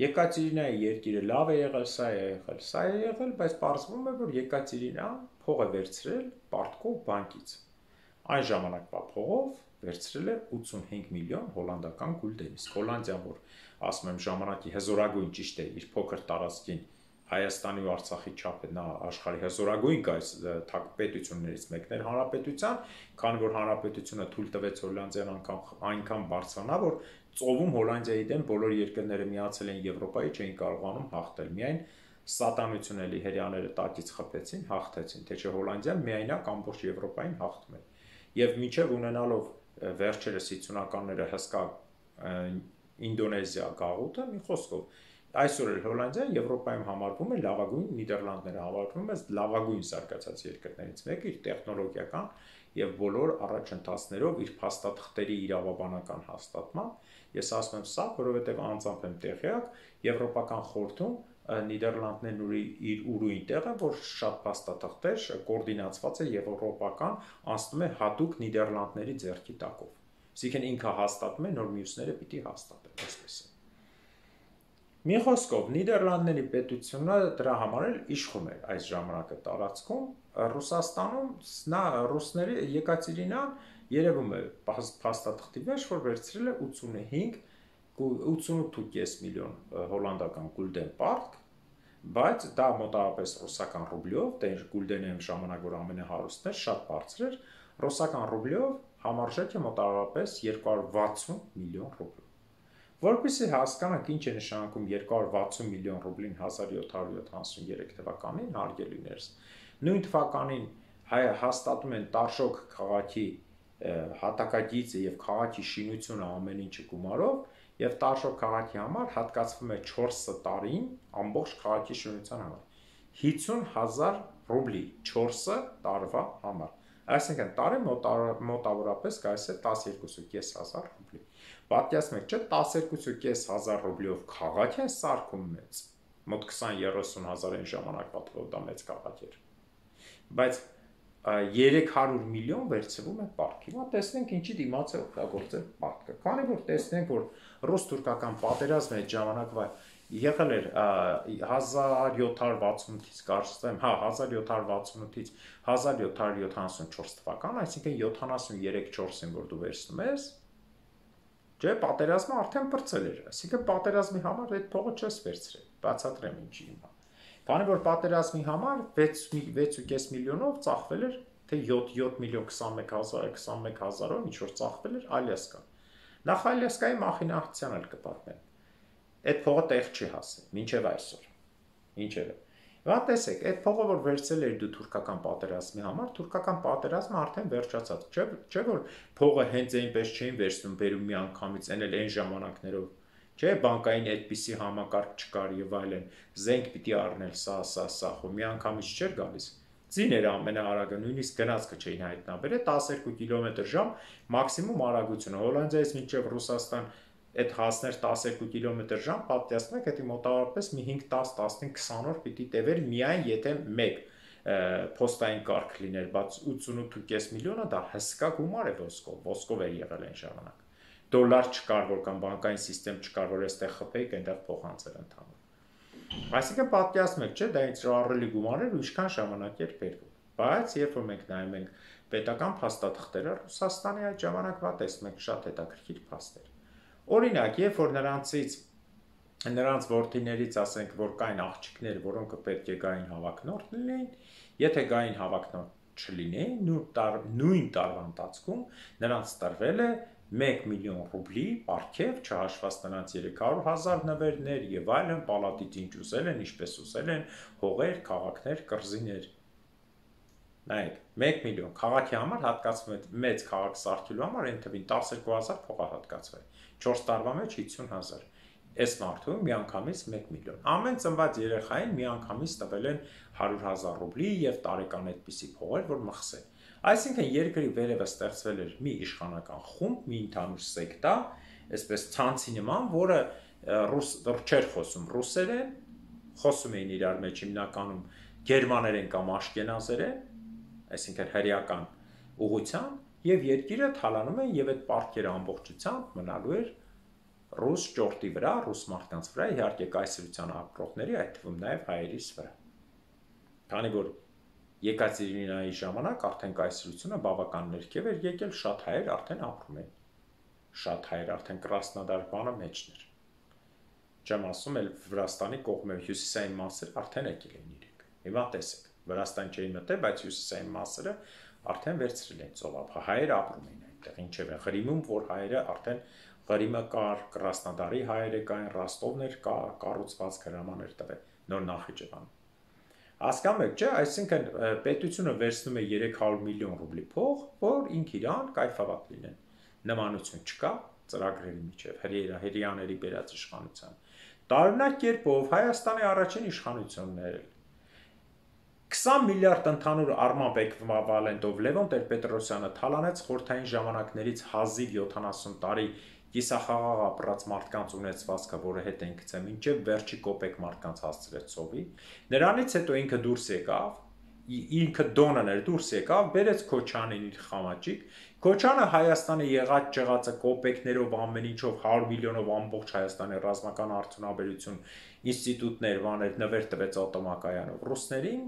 Եկատերինայի երկիրը լավ է եղել, սա է եղել, սա է եղել, բայց պարզվում է, որ Եկատերինան փող է վերցրել Պարտկով բանկից։ Այն ժամանակվա փողով վերցրել է 85 միլիոն հոլանդական գուլդեն, իսկ Հոլանդիան, որ ասում եմ ժամանակի հզորագույն ճիշտ է, իր փոքր տարածքին Հայաստանի ու Արցախի չափը նա աշխարհի հզորագույն պետություններից մեկն էր հանրապետության, քանի որ հանրապետությունը թույլ տվեց Հոլանդիան այնքան բարձրանա, որ ծովում Հոլանդիայի դեմ բոլոր երկրները միացել են Եվրոպայի, չէին կարողանում հաղթել։ Միայն սատանությունելի հրեաները տակից խփեցին, հաղթեցին, թե չէ Հոլանդիան միայնակ ամբողջ Եվրոպային հաղթում էր։ Եվ մինչև ունենալով վերջերս 50-ականները հսկա Ինդոնեզիա գաղութը, մի խոսքով այսօր էլ Հոլանդիան Եվրոպայում համարվում է լավագույն, Նիդերլանդները համարվում է լավագույն զարգացած երկրներից մեկը իր տեխնոլոգիական եւ բոլոր առաջընթացներով իր փաստաթղթերի իրավաբանական հաստատմամբ։ Ես ասում եմ սա, որովհետեւ անձամբ եմ տեղյակ, Եվրոպական խորհրդում Նիդերլանդներն իր ուրույն տեղը, որ շատ փաստաթղթեր կոորդինացված է եվրոպական, անցնում է հատուկ Նիդերլանդների ձեռքի տակով։ Այսինքն ինքը հաստատում է, նոր մյուսները պիտի հաստատեն, այսպես է։ Մի խոսքով Նիդերլանդների պետությունը դրա համար էլ իշխում էր այս ժամանակը տարածքում, Ռուսաստանում նա ռուսների Եկատերինան երևում է փաստաթղթի մեջ, որ վերցրել է 88.5 միլիոն հոլանդական գուլդեն պարտք, բայց դա մոտավորապես ռուսական ռուբլյով, դե գուլդենը ժամանակ որ ամենահարուստն էր, շատ բարձր էր, ռուսական ռուբլյով համարժեքը մոտավորապես 260 միլիոն ռուբլ։ Որպեսզի հասկանանք ինչ է նշանակում 260 միլիոն ռուբլին 1773 թվականին, հարգելիներս, նույն թվականին հաստատում են Տարշոկ քաղաքի հատակագիծը եւ քաղաքի շինությունը ամեն ինչը գումարով եւ Տարշոկ քաղաքի համար հատկացվում է 4 տարին ամբողջ քաղաքի շինության համար 50,000 ռուբլի 4 տարվա համար, այսինքն տարի մոտավորապես գալիս է 12,500 ռուբլի։ Պատկերացնում եք, չէ՞, 12,500 ռուբլիով քաղաք են սարքում մեծ, մոտ 20-30 հազար այն ժամանակվա թվով դա մեծ քաղաք էր, բայց 300 միլիոն վերցվում է պարտք։ Հիմա տեսնենք ինչի դիմաց է օգտագործել պարտքը, քանի որ տեսնենք, որ ռուս-թուրքական պատերազմը այդ ժամանակվա եղել էր 1768-ից կարծեմ, հա 1768-ից 1774 թվական, այսինքն 73-4-ին որ դու վերցնում ես, չէ, պատերազմը արդեն բրծել էր, այսինքն պատերազմի համար այդ փողը չես վերցրել, բացատրեմ ինչի հիմա։ Քանի որ պատերազմի համար 6.5 միլիոնով ծախվել էր, թե 7 միլիոն 21,000-ով ինչ որ ծախվել էր Ալյասկա։ Նախ Ալյասկայի մախինացիան էլ կպատմեմ։ Այդ փողը տեղ չի հասել, մինչև այսօր։ Ինչևէ։ Հիմա տեսեք, այդ փողը որ վերցել էր դու թուրքական պատերազմի համար, թուրքական պատերազմը արդեն վերջացած, չէ՞ որ փողը հենց այնպես չէին վերցնում, բերում մի անգամից, այն էլ այն ժամանակներով, չէ՞, բանկային այդպիսի համակարգ չկար եւ այլն, զենք պիտի առնել, սա, խո մի անգամից չէր գալիս։ Ձին էր ամենաարագը, նույնիսկ գնացքը չէին հայտնաբերել 12 կմ/ժ մաքսիմում արագությունը, Հոլանդիայից մինչև Ռուսաստան այդ հասներ 12 կմ/ժ, պատկերացնեք, դա մոտավորապես մի 5-10-15-20 օր պիտի տևեր միայն եթե մեկ փոստային կարգ լիներ, բայց 88.5 միլիոնը դա հսկա գումար է ոսկով էր եղել այն ժամանակ։ Դոլար չկար, որ կամ բանկային համակարգ չկար, որ այստեղ խփեիք, այնտեղ փոխանցել ընդհանուր։ Այսինքն պատկերացնեք, չէ, դա ինչ ահռելի գումար էր ու ինչքան ժամանակ էր բերվում։ Բայց երբ որ մենք նայում ենք պետական փաստաթղթերը Ռուսաստանի այդ ժամանակվա տեսնում ենք շատ հետաքրքիր փաստեր։ Օրինակ, երբ որ նրանց որդիներից ասենք, որ կային աղջիկներ, որոնք պետք է գային հավակնորդ լինեին, եթե գային հավակնորդ չլինեին, նույն տարվա ընթացքում նրանց տրվել է 1 միլիոն ռուբլի պարգև, չհաշված նրանց 300,000 նվերներ եւ այլն, պալատից ինչ ուզել են, ինչպես ուզել են, հողեր, քաղաքներ, կղզիներ։ Նայեք, 1 միլիոն քաղաքի համար հատկացվում է մեծ քաղաք սարքելու համար այն թվին 12,000 փող հատկացվել, 4 տարվա մեջ 50,000։ Այս մարդու միանգամից 1 միլիոն։ Ամեն ծնված երեխային միանգամից տվել են 100,000 ռուբլի եւ տարեկան այդպիսի փողեր, որ մխսեն։ Այսինքն երկրի վերևը ստեղծվել էր մի իշխանական խումբ, մի ընդհանուր սեկտա, այսպես ցանցի նման, որը չէր խոսում ռուսերեն, խոսում էին իրար մեջ հիմնականում գերմաներեն կամ աշկենազերեն, այսինքն հրեական ուղղությամբ եւ երկիրը թալանում են եւ այդ պարտքերը ամբողջությամբ մնալու էր ռուս ճորտի վրա, ռուս մարդկանց վրա, իհարկե կայսրության ապրողների, այդ թվում նաեւ հայերիս վրա։ Քանի որ Եկատերինայի ժամանակ արդեն կայսրությունը բավական ներքև էր եկել, շատ հայեր արդեն ապրում են։ Շատ հայեր արդեն Կրասնոդար բանը մեջն էր։ Չեմ ասում էլ Վրաստանի կողմը հյուսիսային մասերը արդեն եկել են իրենք։ Հիմա տեսեք, Վրաստան չէին մտել, բայց հյուսիսային մասերը արդեն վերցրել են ծովափ։ Հայերը ապրում են այնտեղ, ինչև է Ղրիմում, որ հայերը արդեն Ղրիմը կար, Կրասնոդարի հայերը կային, Ռոստովներ կառուցված հրամաններ տվել, նոր Նախիջևանում։ Հասկանում եք, չէ, այսինքն պետությունը վերցնում է 300 միլիոն ռուբլի փող, որ ինք իրան կայֆավատ լինեն։ Նմանություն չկա ծրագրերի միջև հրեաների բերած իշխանության։ Տարօրինակ կերպով Հայաստանի առաջին իշխանությունն էր 20 միլիարդ ընդհանուր առմամբ էկվիվալենտով Լևոն Տեր-Պետրոսյանը թալանեց խորհրդային ժամանակներից հազիվ 70 տարի կիսախաղաղ ապրած մարդկանց ունեցվածքը, որը հետ են գցել, մինչև վերջի կոպեկ մարդկանց հասցրեց ծովի։ Նրանից հետո ինքը դուրս եկավ, ինքը դոնն էր դուրս եկավ, բերեց Քոչանին իր խամաճիկ։ Քոչանը Հայաստանի եղած ճղածը կոպեկներով ամեն ինչով 100 միլիոնով ամբողջ Հայաստանի ռազմական արդյունաբերություն ինստիտուտներ բաներ նվեր տվեց օտոմակայանով ռուսներին։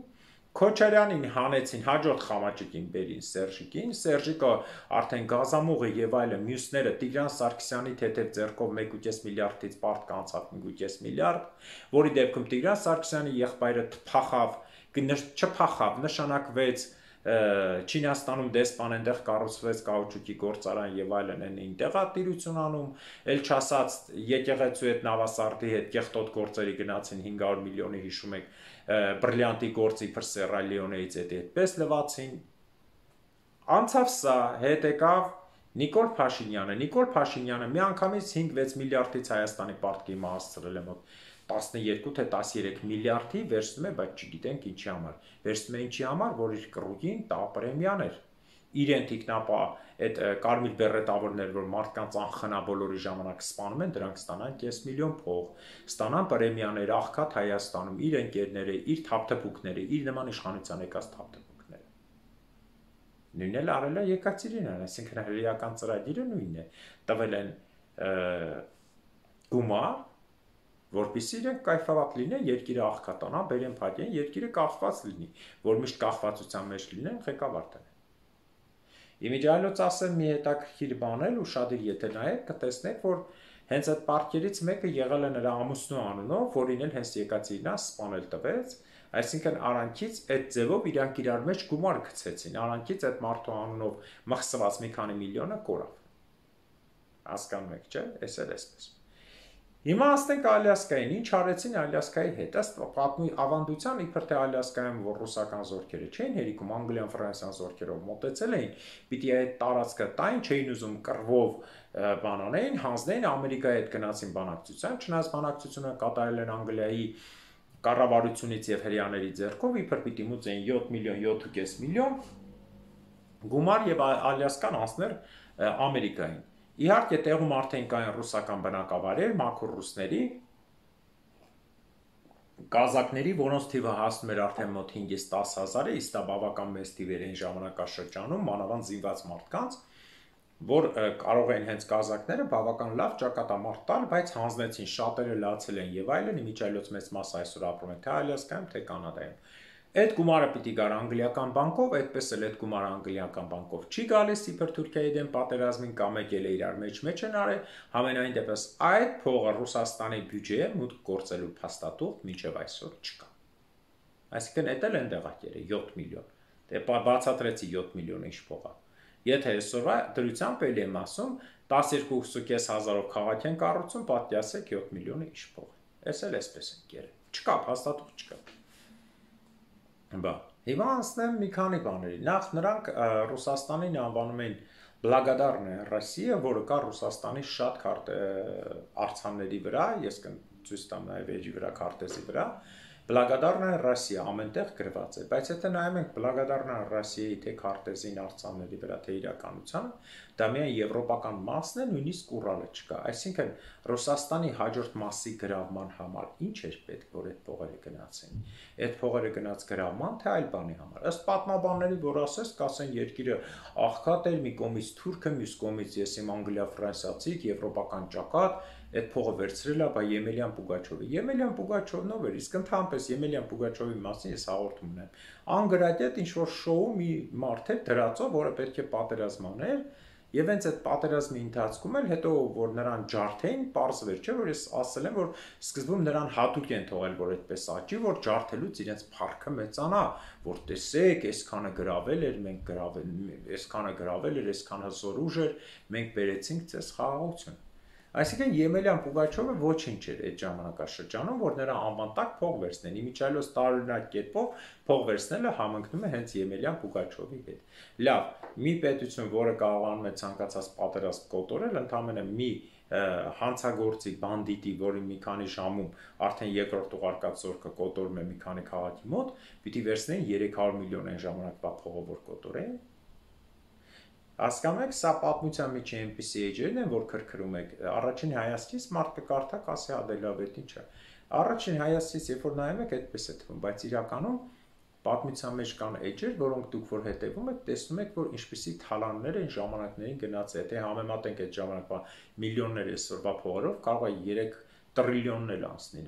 Քոչարյանին հանեցին, հաջորդ խամաճիկին բերին Սերժիկին, Սերժիկը արդեն գազամուղը եւ այլն, մյուսները Տիգրան Սարգսյանի թեթև ձեռքով 1.5 միլիարդից պարտ կանցավ 5.5 միլիարդ, որի դեպքում Տիգրան Սարգսյանի եղբայրը չփախավ, նշանակվեց Չինաստանում դեսպան այնտեղ կառուցվեց կաուչուկի գործարան եւ այլն այն տեղատիրություն անում, ել չասած եկեղեցու հետ նավասարդի հետ կեղտոտ գործերի գնացին 500 միլիոնի հիշում եք բրիլյանտի գործի Սերրա Լեոնեից այդպես լվացին։ Անցավ սա, հետ եկավ Նիկոլ Փաշինյանը միանգամից 5-6 միլիարդից Հայաստանի պարտքի հասցրել է մոտ 12 թե 13 միլիարդի վերցնում է, բայց չգիտենք ինչի համար։ Վերցնում է ինչի համար, որ իր կռուգին տա պրեմիան էր։ Իրեն թիկնապա այդ կարմիր բերետավորներ, որ մարդկանց անխնա բոլորի ժամանակ սպանում են, դրանք ստանան 5 միլիոն փող, ստանան պրեմիաներ աղքատ Հայաստանում, իր ընկերները, իր թափթփուկները, իր նման իշխանության եկած թափթփուկները։ Նույնն էլ արել է Եկատերինան, այսինքն հրեական ծրագիրը նույնն է։ Տվել են գումար, որպեսզի իրենք կայֆավատ լինեն, երկիրը աղքատանա, բերեն փակեն, երկիրը կախված լինի, որ միշտ կախվածության մեջ լինեն, ղեկավարները։ Իմիջիայլոց ասեմ մի հետաքրքիր բան էլ ուշադիր եթե նայեք, կտեսնեք, որ հենց այդ պարտքերից մեկը եղել է նրա ամուսնու անունով, որին էլ հենց եկածի նա սպանել տվեց, այսինքն արանքից այդ ձևով իրանք իրար մեջ գումար գցեցին, արանքից այդ մարդու անունով մխսված մի քանի միլիոնը կորավ։ Հասկանում եք, չէ՞, էս էլ էսպես։ Հիմա ասենք Ալյասկային, ինչ արեցին Ալյասկայի հետ, ըստ ավանդության իբր թե Ալյասկայում որ ռուսական զորքերը չէին հերիքում, Անգլիան, Ֆրանսիան զորքերով մոտեցել էին, պիտի այդ տարածքը տային, չէին ուզում կռվով բանանային, հանձնեին, Ամերիկայի հետ գնացին բանակցության, չնայած բանակցությունը կատարել են Անգլիայի կառավարությունից եւ հրեաների ձեռքով, իբր պիտի մուծեին 7 միլիոն, 7.5 միլիոն գումար եւ Ալյասկան անցներ Ամերիկային։ Իհարկե տեղում արդեն կային ռուսական բնակավայրեր, մաքուր ռուսների, կազակների, որոնց թիվը հասնում էր արդեն մոտ 5-ից 10 հազարը, իսկ դա բավական մեծ թիվ էր այն ժամանակաշրջանում, մանավանդ զինված մարդկանց, որ կարող էին հենց կազակները բավական լավ ճակատամարտ տալ, բայց հանձնեցին, շատերը լացել են եւ այլն, իմիջիայլոց մեծ մասը այսօր ապրում է թե Ալյասկայում, թե Կանադայում։ Այդ գումարը պիտի գար անգլիական բանկով, այդպես էլ այդ գումարը անգլիական բանկով չի գալիս, իբր Թուրքիայի դեմ պատերազմին կամ եկել է իրար մեջ են արել, համենայն դեպս այդ փողը Ռուսաստանի բյուջեը մուտք գործելու փաստաթուղթ մինչև այսօր չկա։ Այսինքն դա էլ են դեղակերը 7 միլիոն։ Դե բացատրեցի 7 միլիոնը ինչ փող է։ Եթե այսօրվա դրությամբ էլի եմ ասում 12.5 հազարով քաղաք են կառուցում, պատկի ասեք 7 միլիոնը ինչ փող է։ Էս էլ էսպես են կերել։ Չկա փաստաթուղթ չկա։ Բա, հիմա անցնեմ մի քանի բաների։ Նախ նրանք Ռուսաստանին անվանում են Բլագադարնա Ռոսիա, որը կա Ռուսաստանի շատ արձանների վրա, ես կցույց տամ նաև էջի վրա քարտեզի վրա։ Բլագադարնա Ռոսիա ամենտեղ գրված է, բայց եթե նայում ենք Բլագադարնա Ռոսիայի թե քարտեզին արձանների վրա, թե իրականությանը, դա միայն եվրոպական մասն է, նույնիսկ Ուրալը չկա։ Այսինքն Ռուսաստանի հաջորդ մասի գրավման համար ինչ էր պետք, որ այդ փողերը գնացին։ Այդ փողերը գնաց գրավման, թե այլ բանի համար։ Ըստ պատմաբանների, որ ասես, կասեն երկիրը աղքատ էր, մի կողմից Թուրքը, մյուս կողմից ես իմ Անգլիա ֆրանսիացիք, եվրոպական ճակատ, այդ փողը վերցրել է, բա Եմելյան Պուգաչովը։ Եմելյան Պուգաչովն ով էր, իսկ ընդհանրապես Եմելյան Պուգաչովի մասին ես հաղորդում ունեմ։ Անգրատետ ինչ որ շոու մի մարդ էր դրածով, որը պետք է պատերազմաներ, եւ հենց այդ պատերազմի ընթացքում էլ հետո որ նրան ջարդեին, պարզվեր, չէ՞ որ ես ասել եմ, որ սկզբում նրան հատուկ են թողել, որ այդպես աճի, որ ջարդելուց իրենց փառքը մեծանա, որ տեսեք, այսքանը գրավել էր, մենք գրավել, այսքանը գրավել էր, այսքան հզոր ուժ էր, մենք բերեցինք ցես խաղաղություն։ Այսինքն Եմելյան Պուգաչովը ոչինչ էր այդ ժամանակաշրջանում, որ նրա անվան տակ փող վերցնեն։ Իմիջիայլոց տարօրինակ կերպով փող վերցնելը համընկնում է հենց Եմելյան Պուգաչովի հետ։ Լավ, մի պետություն, որը կարողանում է ցանկացած պատերազմ կոտորել, ընդհանրապես մի հանցագործի, բանդիտի, որի մի քանի ժամում արդեն երկրորդ ուղարկած զորքը կոտորում է մի քանի քաղաքի մոտ, պիտի վերցնեն 300 միլիոն այն ժամանակվա փողը, որ կոտորեն։ Հասկանում եք, սա պատմության միջի այնպիսի էջերն են, որ քրքրում եք։ Առաջին հայացքից մարդ կկարդա, կասի ադելավետ ինչ է։ Առաջին հայացքից երբ որ նայում եք, այդպես է թվում, բայց իրականում պատմության մեջ կան էջեր, որոնք դուք որ հետևում եք, տեսնում եք, որ ինչպիսի թալաններ են ժամանակներին գնացել։ Եթե համեմատենք այդ ժամանակվա միլիոններ այսօրվա փողերով, կարող է 3 տրիլիոններ անցնի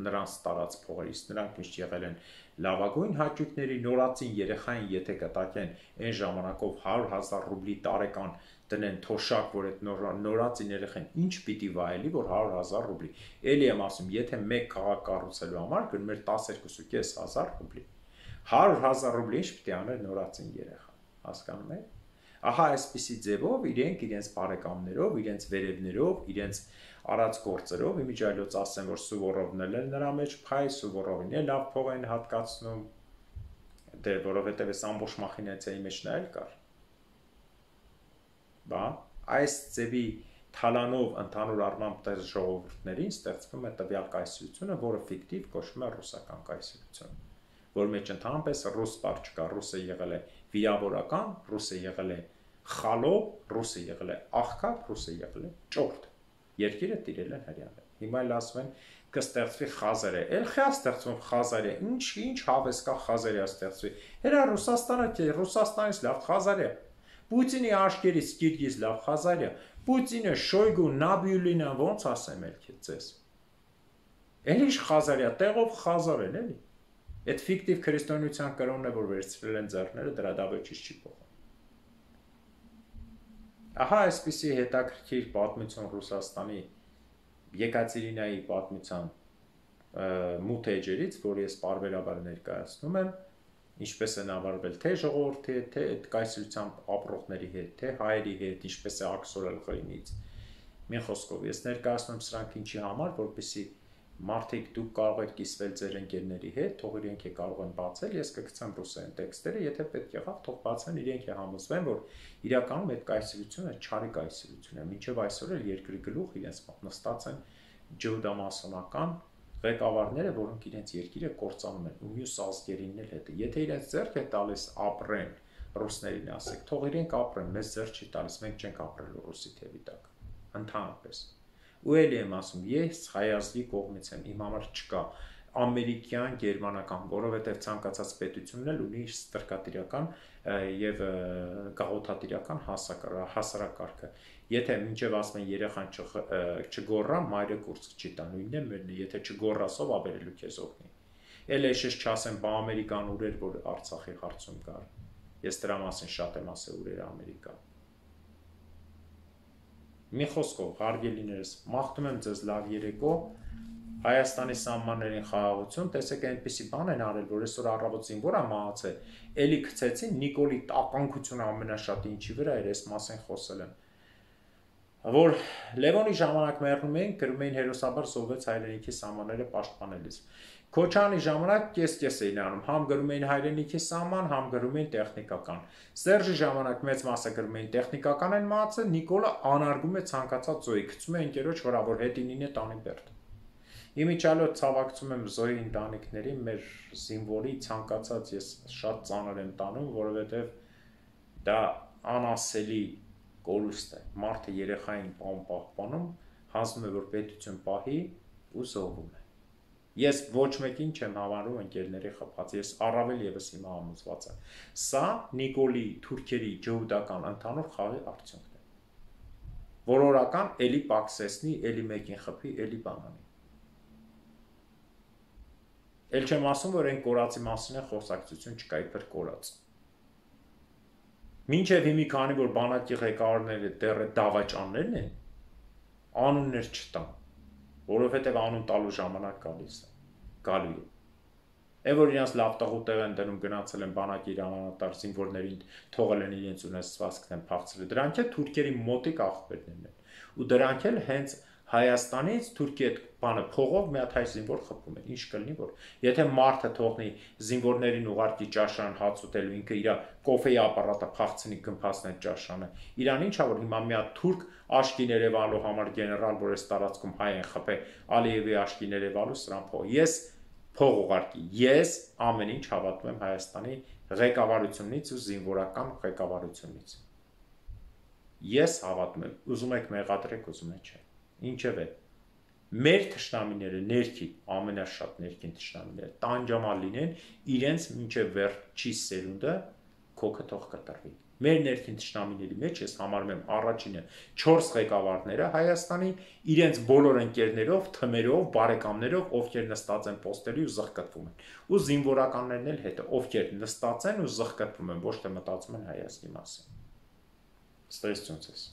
նրանց տարած փողերից, նրանք միշտ եղել են լավագույն հաճույքների նորածին երեխային, եթե կտակեն այն ժամանակով 100,000 ռուբլի տարեկան դնեն թոշակ, որ այդ նորածին երեխան ինչ պիտի վայելի, որ 100,000 ռուբլի։ Էլի եմ ասում, եթե մեկ քաղաք կառուցելու համար գնում էր 12,500 ռուբլի։ 100,000 ռուբլի ինչ պիտի աներ նորածին երեխա, հասկանում եք։ Ահա այսպիսի ձևով իրենց բարեկամներով, իրենց վերևներով, իրենց արած գործերով, իմիջիայլոց ասեմ, որ Սուվորովն էլ նրա մեջ փայ, Սուվորովին էլ լավ փող են հատկացնում, դե որովհետև այս ամբողջ մախինացիայի մեջ նա էլ կար։ Բա, այս ձևի թալանով ընդհանուր առմամբ տես ժողովուրդներին ստեղծվում է տվյալ կայսրությունը, որը ֆիկտիվ կոչվում է ռուսական կայսրություն, որ մեջ ընդհանրապես ռուս բառ չկա, ռուսը եղել է վիրավորական, ռուսը եղել է խալոպ, ռուսը եղել է աղքատ, ռուսը եղել է ճորտ։ Երկիրը տիրել են հրեաներ։ Հիմա էլ ասում են կստեղծվի Խազարը։ Էլ խա ստեղծվում Խազարը։ Ինչ հավես կա Խազարիա ստեղծվի։ Հերա Ռուսաստանը չէ, Ռուսաստանից լավ Խազարիա։ Պուտինի աշկերից Կիրգիզ լավ Խազարիա։ Պուտինը, Շոյգու, Նաբիուլինը ոնց ասեմ ելք ձեզ։ Էլի Խազարիա, տեղով Խազար են, էլի։ Այդ ֆիկտիվ քրիստոնեության կրոնն է, որ վերցրել են ձեռները, դրա դավեճից չի փոխում։ Ահա այսպիսի հետաքրքիր պատմություն Ռուսաստանի Եկատերինայի պատմության մութ էջերից, որ ես պարբերաբար ներկայացնում եմ, ինչպես են ավարվել թե ժողովրդի հետ, թե այդ կայսրությամբ ապրողների հետ, թե հայերի հետ, ինչպես է աքսորել ղրիմից։ Մի խոսքով, ես ներկայացնում եմ սրանք ինչի համար, որպեսզի մարդիկ դուք կարող եք կիսվել ձեր ընկերների հետ, թող իրենք կարող են բացել, ես կգցեմ ռուսերեն տեքստերը, եթե պետք եղավ, թող բացեն, իրենք համոզվեն, որ իրականում այդ կայսրությունը չարի կայսրություն է, մինչև այսօր էլ երկրի գլուխ իրենց նստած են ջհուդամասոնական ղեկավարները, որոնք իրենց երկիրը կործանում են ու մյուս ազգերին էլ հետը։ Եթե իրենց ձեռք է տալիս ապրեն, ռուսներին ասեք, թող իրենք ապրեն, մեզ ձեռք չի տալիս, մենք չենք ապրելու ռուսի թևի տակ, ընդհանրապես։ Ու էլի եմ ասում, ես հայազգի կողմից եմ, իմ համար չկա ամերիկյան, գերմանական, որովհետև ցանկացած պետությունն էլ ունի իր ստրկատիրական եւ գաղութատիրական հասարակարգը։ Եթե մինչև ասում են երեխան չգոռա, մայրը կուրծք չի տա, նույնն է մերն է, եթե չգոռասով ավերելու քեզ օգնի։ Էլ էշես չասեմ, բա ամերիկան ուր էր, որ Արցախի հարցում կար։ Ես դրա մասին շատ եմ ասել, ուր էր Ամերիկա։ Մի խոսքով, հարգելիներս, մաղթում եմ ձեզ լավ երեկո, Հայաստանի սահմաններին խաղաղություն, տեսեք այնպիսի բան են արել, որ այսօր առավոտ զինվոր է մահացել, էլի գցեցին Նիկոլի տականքությունը ամենաշատը ինչի վրա էր, այս մասին խոսել եմ, որ Լևոնի ժամանակ մեռնում էին, գրում էին հերոսաբար զոհվեց հայրենիքի սահմանները պաշտպանելիս։ Քոչարյանի ժամանակ կես-կես էին անում, համ գրում էին հայրենիքի սահման, համ գրում էին տեխնիկական։ Սերժի ժամանակ մեծ մասը գրում էին տեխնիկական են մահացել, Նիկոլը անարգում է ցանկացած զոհի, գցում է ընկերոջ վրա, որ հետինին է տանի բերդ։ Իմիջիալոց ցավակցում եմ զոհի ընտանիքների, մեր զինվորի ցանկացած ես շատ ծանր եմ տանում, որովհետև դա անասելի կորուստ է։ Մարդը երեխային պահպանում, հանձնում է, որ պետություն պահի ու զոհվում է։ Ես ոչ մեկին չեմ համարում ընկերների խփած, ես առավել եւս հիմա համոզված եմ։ Սա Նիկոլի թուրքերի ջհուդական ընդհանուր խաղի արդյունքն է։ Որորական էլի պակսեսնի, էլի մեկին խփի, էլի բանանի։ Էլ չեմ ասում, որ այն կորածի մասին է խոսակցություն չկա, իբր կորած։ Մինչև հիմի քանի որ բանակի ղեկավարները դեռ դավաճաններն են, անուններ չտան, որովհետև անուն տալու ժամանակ գալու է։ Այն որ իրենց լավ տաղուտեղ են դնում, գնացել են բանակի իրանանատար զինվորներին, թողել են իրենց ունեցվածքն են փախցրել, դրանք էլ թուրքերի մոտիկ աղբերներն են։ Ու դրանք էլ հենց Հայաստանից Թուրքիա այդ բանը փողով մի հատ հայ զինվոր խփում են, ինչ կլինի որ։ Եթե մարդը թողնի զինվորներին ուղարկի ճաշարան հաց ուտելու, ինքը իր կոֆեի ապարատը փախցնի գմփացնի ճաշարանը։ Իրան ինչա որ հիմա մի հատ թուրք աշկի ներևալու համար գեներալ, որ այս տարածքում հայ են խփե, Ալիևի աշկի ներևալու սրան փող։ Ես փող ուղարկի, ես ամեն ինչ հավատում եմ Հայաստանի ղեկավարությունից ու զինվորական ղեկավարությունից։ Ես հավատում եմ, ուզում եք մեղադրեք, ուզում եք չէ։ Ինչև է։ Մեր թշնամիները ներքին, ամենաշատ ներքին թշնամիները տանջամալ լինեն, իրենց մինչև վերջի սերունդը քոքը թող կտրվի։ Մեր ներքին թշնամիների մեջ ես համարում եմ առաջինը 4 ղեկավարները Հայաստանի իրենց բոլոր ընկերներով, թմերով, բարեկամներով, ովքեր նստած են պոստերի ու զղկտվում են։ Ու զինվորականներն էլ հետը, ովքեր նստած են ու զղկտվում են, ոչ թե մտածում են հայազգի մասին։ Ստեսություն ցես։